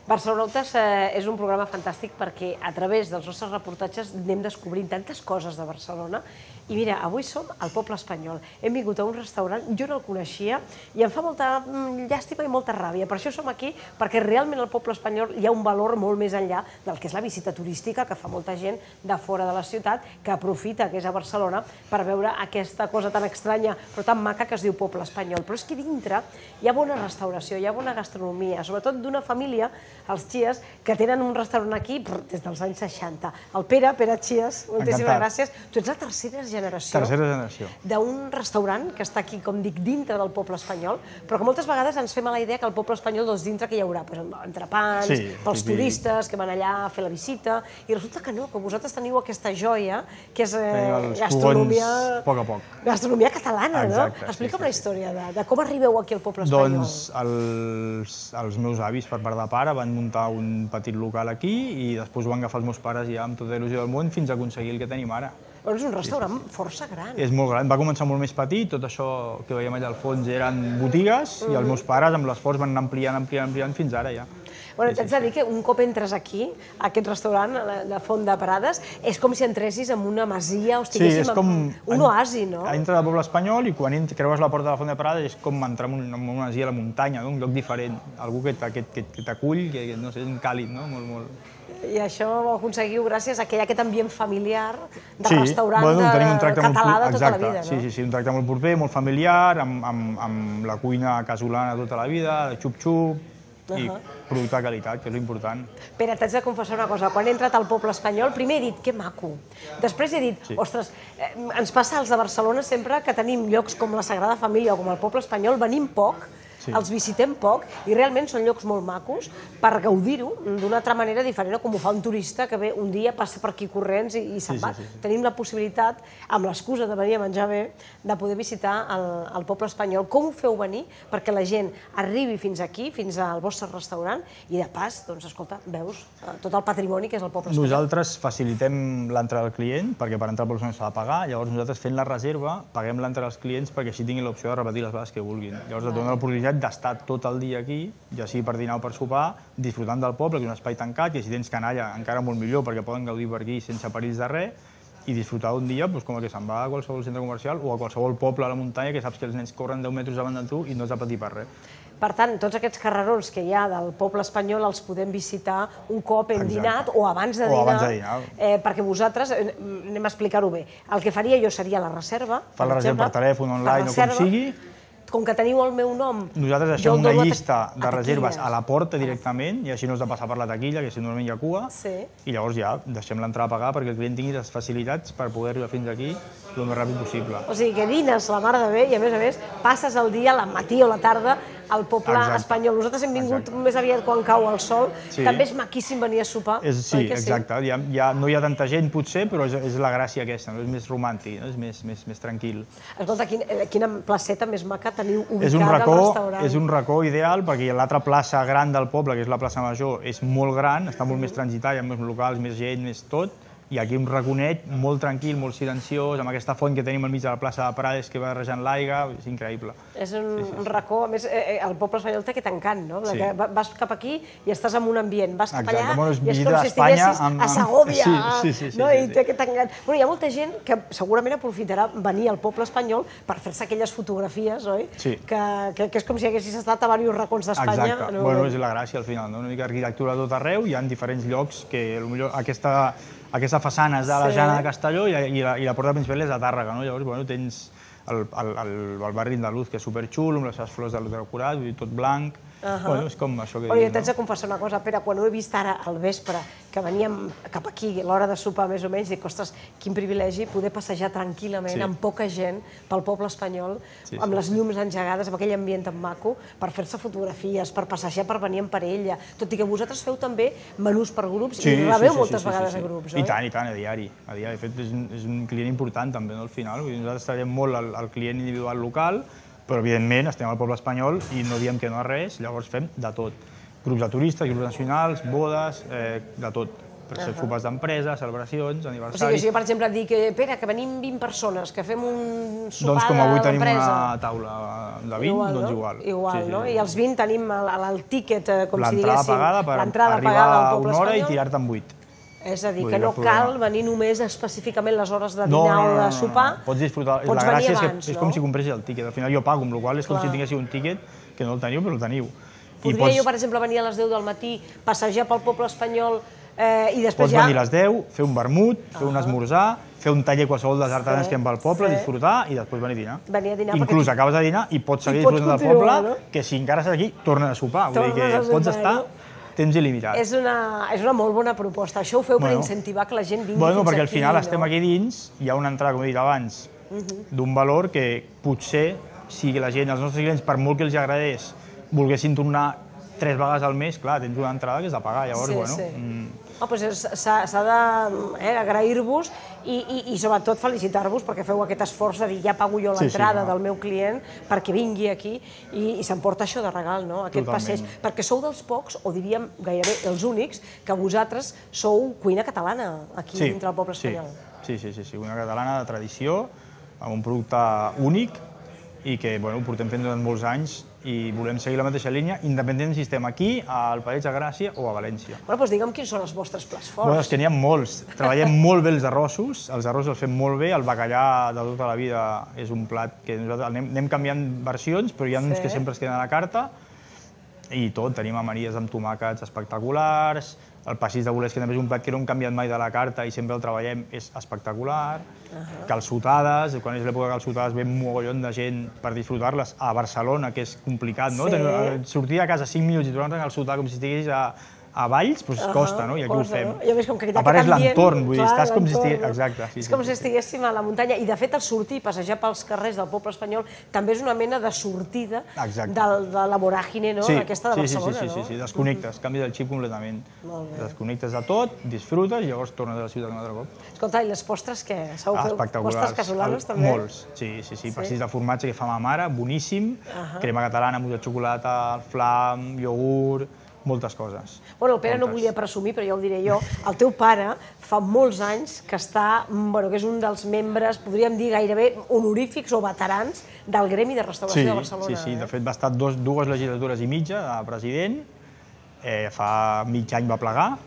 Barcelonautes és un programa fantàstic perquè a través dels nostres reportatges anem descobrint tantes coses de Barcelona. I mira, avui som al Poble Espanyol. Hem vingut a un restaurant, jo no el coneixia, i em fa molta llàstima i molta ràbia. Per això som aquí, perquè realment al Poble Espanyol hi ha un valor molt més enllà del que és la visita turística que fa molta gent de fora de la ciutat, que aprofita que és a Barcelona per veure aquesta cosa tan estranya però tan maca que es diu Poble Espanyol. Però és que dintre hi ha bona restauració, hi ha bona gastronomia, sobretot d'una família, els Chies, que tenen un restaurant aquí des dels anys 60. El Pere Chies, moltíssimes gràcies. Tu ets la tercera generació d'un restaurant que està aquí, com dic, dintre del Poble Espanyol, però que moltes vegades ens fem a la idea que al Poble Espanyol, doncs, dintre que hi haurà entrepans, pels turistes que van allà a fer la visita, i resulta que no, que vosaltres teniu aquesta joia, que és gastronomia... a poc a poc. Gastronomia catalana, no? Explica'm la història de com arribeu aquí al Poble Espanyol. Doncs els meus avis, per part de pare, van muntar un petit local aquí i després ho van agafar els meus pares ja amb tota la il·lusió del món fins a aconseguir el que tenim ara. Però és un restaurant força gran. És molt gran. Va començar molt més petit, tot això que veiem allà al fons eren botigues i els meus pares amb l'esforç van anar ampliant fins ara ja. T'haig de dir que un cop entres aquí, a aquest restaurant, de Font de Prades, és com si entressis en una masia o estiguéssim en un oasi, no? Entres al Poble Espanyol i quan creues la porta de la Font de Prades és com entrar en una masia a la muntanya, un lloc diferent, algú que t'acull, que no sé, és càlid, no? Molt... I això ho aconseguiu gràcies a que hi ha aquest ambient familiar de restaurant català de tota la vida, no? Sí, un tracte molt proper, molt familiar, amb la cuina casolana tota la vida, de xup-xup, i producte de qualitat, que és l'important. Pere, t'haig de confessar una cosa. Quan he entrat al Poble Espanyol, primer he dit, que maco. Després he dit, ostres, ens passa als de Barcelona sempre que tenim llocs com la Sagrada Família o com el Poble Espanyol, venim poc, els visitem poc i realment són llocs molt macos per gaudir-ho d'una altra manera diferent, com ho fa un turista que ve un dia, passa per aquí corrents i se'n va. Tenim la possibilitat, amb l'excusa de venir a menjar bé, de poder visitar el Poble Espanyol. Com ho feu venir perquè la gent arribi fins aquí, fins al vostre restaurant, i de pas, doncs, escolta, veus tot el patrimoni que és el Poble Espanyol. Nosaltres facilitem l'entrada al client, perquè per entrar al Poble Espanyol s'ha de pagar, llavors nosaltres fent la reserva paguem l'entrada als clients perquè així tinguin l'opció de repetir les vegades que vulguin. Llavors et dona l'oportunitat d'estar tot el dia aquí, ja sigui per dinar o per sopar, disfrutant del poble, que és un espai tancat, i si tens canalla encara molt millor, perquè poden gaudir per aquí sense perills de res, i disfrutar un dia com el que se'n va a qualsevol centre comercial o a qualsevol poble a la muntanya que saps que els nens corren 10 metres davant de tu i no has de patir per res. Per tant, tots aquests carrerons que hi ha del Poble Espanyol els podem visitar un cop hem dinat o abans de dinar, perquè vosaltres, anem a explicar-ho bé, el que faria jo seria la reserva, per la reserva per telèfon, online o com sigui. Com que teniu el meu nom... Nosaltres deixem una llista de reserves a la porta directament i així no has de passar per la taquilla, que si normalment hi ha cua, i llavors ja deixem l'entrada a pagar perquè el client tingui les facilitats per poder arribar fins aquí el més ràpid possible. O sigui que dines la mar de bé i a més passes el dia, al matí o la tarda, al Poble Espanyol. Nosaltres hem vingut més aviat quan cau el sol. També és maquíssim venir a sopar. Sí, exacte. No hi ha tanta gent potser, però és la gràcia aquesta, és més romàntic, és més tranquil. Escolta, quina placeta més maca teniu ubicada al restaurant. És un racó ideal perquè l'altra plaça gran del poble, que és la plaça Major, és molt gran, està molt més transitada, hi ha més locals, més gent, més tot, i aquí un raconet molt tranquil, molt silenciós, amb aquesta font que tenim al mig de la plaça de Prades que va barrejant l'aigua, és increïble. És un racó, a més, el Poble Espanyol té aquest encant, no? Vas cap aquí i estàs en un ambient, vas cap allà i és com si estiguessis a Segòvia, no? I té aquest encant. Hi ha molta gent que segurament aprofitarà venir al Poble Espanyol per fer-se aquelles fotografies, oi? Que és com si haguessis estat a diversos racons d'Espanya. Exacte, bueno, és la gràcia al final, una mica arquitectura a tot arreu, hi ha diferents llocs que potser aquesta façana és de la Jana de Castelló i la porta principal és de Tàrrega, no? Llavors tens el barri andalús, que és superxulo, amb les seves flors de decorat, tot blanc. És com això que dic, no? Jo t'haig de confessar una cosa, Pere, quan ho he vist ara al vespre, que veníem cap aquí, a l'hora de sopar més o menys, dic, ostres, quin privilegi poder passejar tranquil·lament, amb poca gent, pel Poble Espanyol, amb les llums engegades, amb aquell ambient tan maco, per fer-se fotografies, per passejar, per venir en parella, tot i que vosaltres feu també menús per grups i rebeu moltes vegades a grups, oi? I tant, a diari. De fet, és un client important també, al final. Nosaltres treballem molt al client individual local, però evidentment estem al Poble Espanyol i no diem que no a res, llavors fem de tot. Grups de turistes, grups nacionals, bodes, de tot. per ser sopars d'empresa, celebracions, O sigui, aniversaris. si jo, per exemple, dic, Pere, que venim 20 persones, que fem un sopar Doncs com avui tenim d'empresa. una taula de 20, doncs igual. Igual, no? I els 20 tenim el tíquet, com si L'entrada diguéssim, pagada per l'entrada arribar pagada al a poble una hora i espanyol. tirar-te en 8. És a dir, Vull que dir, no cap cal problema. venir només específicament les hores de dinar o de sopar. Pots disfrutar. Pots La gràcia venir és abans, que és no? com si compressis el tíquet. Al final jo pago, amb la qual cosa és com Clar. si tinguéssiu un tíquet que no el teniu, però el teniu. Podria jo, per exemple, venir a les 10 del matí, passejar pel poble espanyol i després Pots ja... venir a les 10, fer un vermut, fer un esmorzar, fer un taller qualsevol dels artesans que hi ha pel poble, disfrutar i després venir a dinar. Venir a dinar Inclús perquè- acabes de dinar i pots seguir I pots disfrutant del continuar, poble, no? que si encara estàs aquí, tornes a sopar. Vull dir Tornes que a pots sopar, estar no? temps il·limitat. És una molt bona proposta. Això ho feu per incentivar que la gent vingui fins aquí. Perquè al final estem aquí dins, hi ha una entrada, com he dit abans, d'un valor que potser, si la gent, els nostres clients, per molt que els agradés, volguessin tornar 3 vegades al mes, clar, tens una entrada que és de pagar, llavors, S'ha d'agrair-vos i sobretot felicitar-vos perquè feu aquest esforç de dir ja pago jo l'entrada del meu client perquè vingui aquí i s'emporta això de regal, no? Aquest passeig. Perquè sou dels pocs, o diríem gairebé els únics, que vosaltres sou cuina catalana aquí dintre del poble espanyol. Sí, cuina catalana de tradició, amb un producte únic i que ho portem fent durant molts anys i volem seguir la mateixa línia, independentment si estem aquí, al Passeig de Gràcia o a València. Doncs digue'm quins són els vostres plats forts. És que n'hi ha molts. Treballem molt bé els arrossos els fem molt bé, el bacallà de tota la vida és un plat que nosaltres anem canviant versions, però hi ha uns que sempre es queden a la carta, i tot, tenim amanides amb tomàquets espectaculars, el passis de bolets, que també és un plat que no hem canviat mai de la carta i sempre el treballem, és espectacular, calçotades, quan és l'època de calçotades ve un mogollon de gent per disfrutar-les, a Barcelona, que és complicat, no? Sortir de casa 5 minuts i tornar-te a calçotar com si estiguessis a Valls, doncs costa, no? I aquí ho fem. A part és l'entorn, vull dir, estàs com si estigués... Exacte. És com si estiguéssim a la muntanya. I de fet el sortir, passejar pels carrers del poble espanyol, també és una mena de sortida de la voràgine aquesta de Barcelona, no? Sí, desconnectes, canvies el xip completament. Desconnectes de tot, disfrutes i llavors tornes a la ciutat un altre cop. Escolta, i les postres què? Sabeu fer postres casolanes també? Molts, sí. Pastís de formatge que fa ma mare, boníssim, crema catalana, mousse de xocolata, flam, iogurt, moltes coses. Bueno, el Pere no volia presumir, però ja ho diré jo. El teu pare fa molts anys que que és un dels membres, podríem dir gairebé honorífics o veterans del Gremi de Restauració de Barcelona. Sí, de fet va estar 2 legislatures i mitja de president, fa mig any va plegar,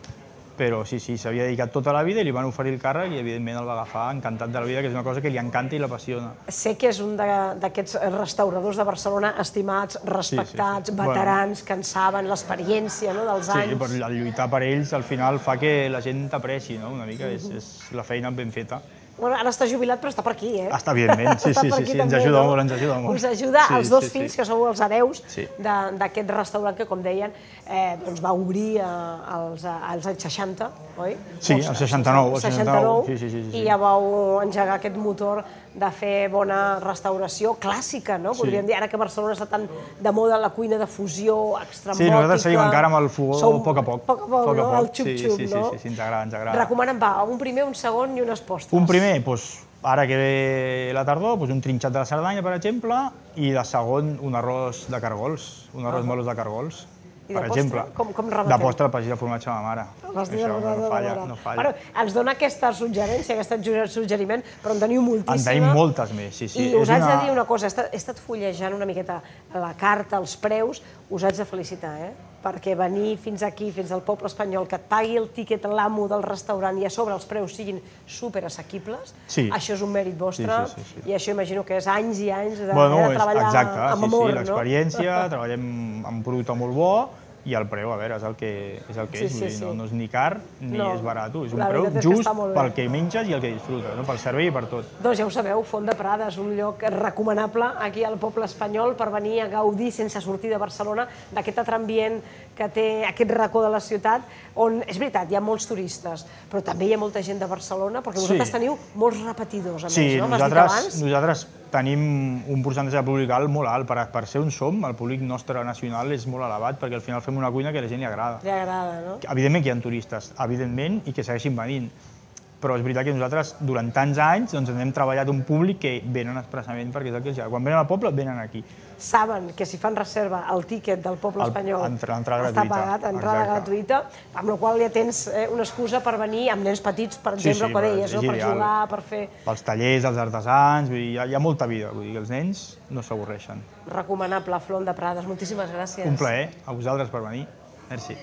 però sí, s'havia dedicat tota la vida i li van oferir el càrrec i evidentment el va agafar encantat de la vida, que és una cosa que li encanta i l'apassiona. Sé que és un d'aquests restauradors de Barcelona estimats, respectats, veterans, que en saben l'experiència dels anys. Sí, però el lluitar per ells al final fa que la gent t'apreci, una mica, és la feina ben feta. Bueno, ara està jubilat, però està per aquí, eh? Està evidentment, sí, ens ajuda molt, Us ajuda els 2 fills, que sou els hereus d'aquest restaurant que, com deien, va obrir als anys 60, oi? Sí, als 69. I ja vau engegar aquest motor de fer bona restauració clàssica, no? Podríem dir, ara que Barcelona està tan de moda la cuina de fusió extremòtica... Sí, nosaltres seguim encara amb el fogó a poc a poc. Poc a poc, no? El xup-xup, no? Sí, ens agrada. Recomanen, un primer, un segon i unes postres. Un primer, ara que ve la tardor, un trinxat de la Cerdanya, per exemple, i de segon, un arròs de cargols, un arròs melós de cargols. Per exemple, de postre el pastis de formatge de ma mare. Això no falla. Ens dona aquesta suggerència, aquest suggeriment, però en teniu moltíssima. En tenim moltes més, sí. I us haig de dir una cosa, he estat fullejant una miqueta la carta, els preus, us haig de felicitar, perquè venir fins aquí, fins al poble espanyol, que et pagui el tíquet l'amo del restaurant i a sobre els preus siguin superassequibles, això és un mèrit vostre i això imagino que és anys i anys de treballar amb amor, no? Sí, l'experiència, treballem amb un producte molt bo i el preu, a veure, és el que és, no és ni car ni és barat, és un preu just pel que menges i el que disfrutes, pel servei i per tot. Doncs ja ho sabeu, Font de Prada és un lloc recomanable aquí al poble espanyol per venir a gaudir sense sortir de Barcelona d'aquest altre ambient que té aquest racó de la ciutat, on, és veritat, hi ha molts turistes, però també hi ha molta gent de Barcelona, perquè vosaltres teniu molts repetidors, a més, no? M'has dit abans? Nosaltres tenim un percentatge de públic alt molt alt. Per ser on som, el públic nostre nacional és molt elevat, perquè al final fem una cuina que a la gent li agrada. Li agrada, no? Evidentment que hi ha turistes, evidentment, i que segueixin venint. però és veritat que nosaltres durant tants anys ens hem treballat un públic que venen expressament perquè és el que els agrada. Quan venen al poble, venen aquí. Saben que si fan reserva el tíquet del poble espanyol està pagat, entrada gratuïta, amb la qual ja tens una excusa per venir amb nens petits, per exemple, que deies, per jugar, per fer... Pels tallers, els artesans, hi ha molta vida, vull dir que els nens no s'avorreixen. Recomanable, Flom de Prades, moltíssimes gràcies. Un plaer, a vosaltres per venir. Merci.